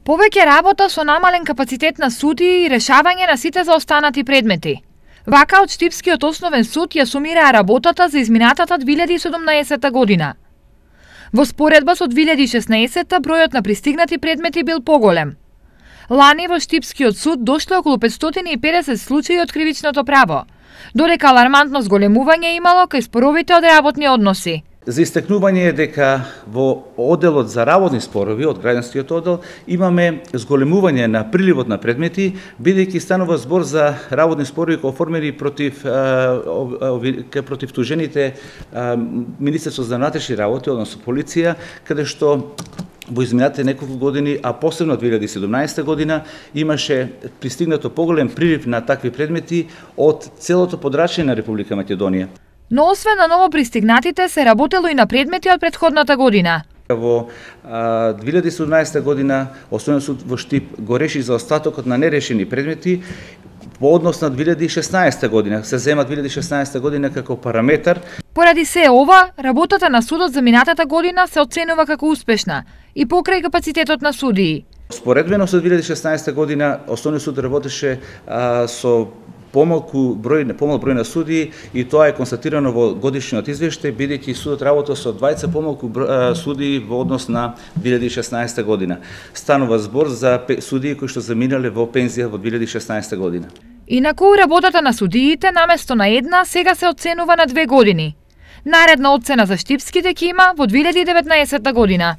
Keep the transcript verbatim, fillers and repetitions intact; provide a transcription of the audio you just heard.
Повеќе работа со намален капацитет на судии и решавање на сите заостанати предмети. Вака од Штипскиот основен суд ја сумираа работата за изминатата две илјади и седумнаесетта година. Во споредба со две илјади и шеснаесетта бројот на пристигнати предмети бил поголем. Лани во Штипскиот суд дошле околу петстотини и педесет случаи од кривичното право, додека алармантно зголемување имало кај споровите од работни односи. За истакнување е дека во одделот за работни спорови од граѓанскиот оддел имаме зголемување на приливот на предмети, бидејќи станува збор за работни спорови кои оформени против против тужените Министерство за внатрешни работи, односно полиција, каде што во изминатите неколку години, а посебно две илјади и седумнаесетта година, имаше пристигнато поголем прилив на такви предмети од целото подрачје на Република Македонија. Но освен на ново пристигнатите, се работело и на предмети од претходната година. Во две илјади и седумнаесетта година Основен суд во Штип го реши заостатокот на нерешени предмети по однос на две илјади и шеснаесетта година. Се зема две илјади и шеснаесетта година како параметар. Поради се ова, работата на судот за минатата година се оценува како успешна и покрај капацитетот на судии. Споредбено со две илјади и шеснаесетта година Основниот суд работеше а, со помалку број, помал број на судии и тоа е констатирано во годишниот извештај, бидејќи судот работел со двајца помалку судии во однос на две илјади и шеснаесетта година. Станува збор за судии кои што заминале во пензија во две илјади и шеснаесетта година. Инаку работата на судиите наместо на една сега се оценува на две години. Наредна оцена за штипските ќе има во две илјади и деветнаесетта година.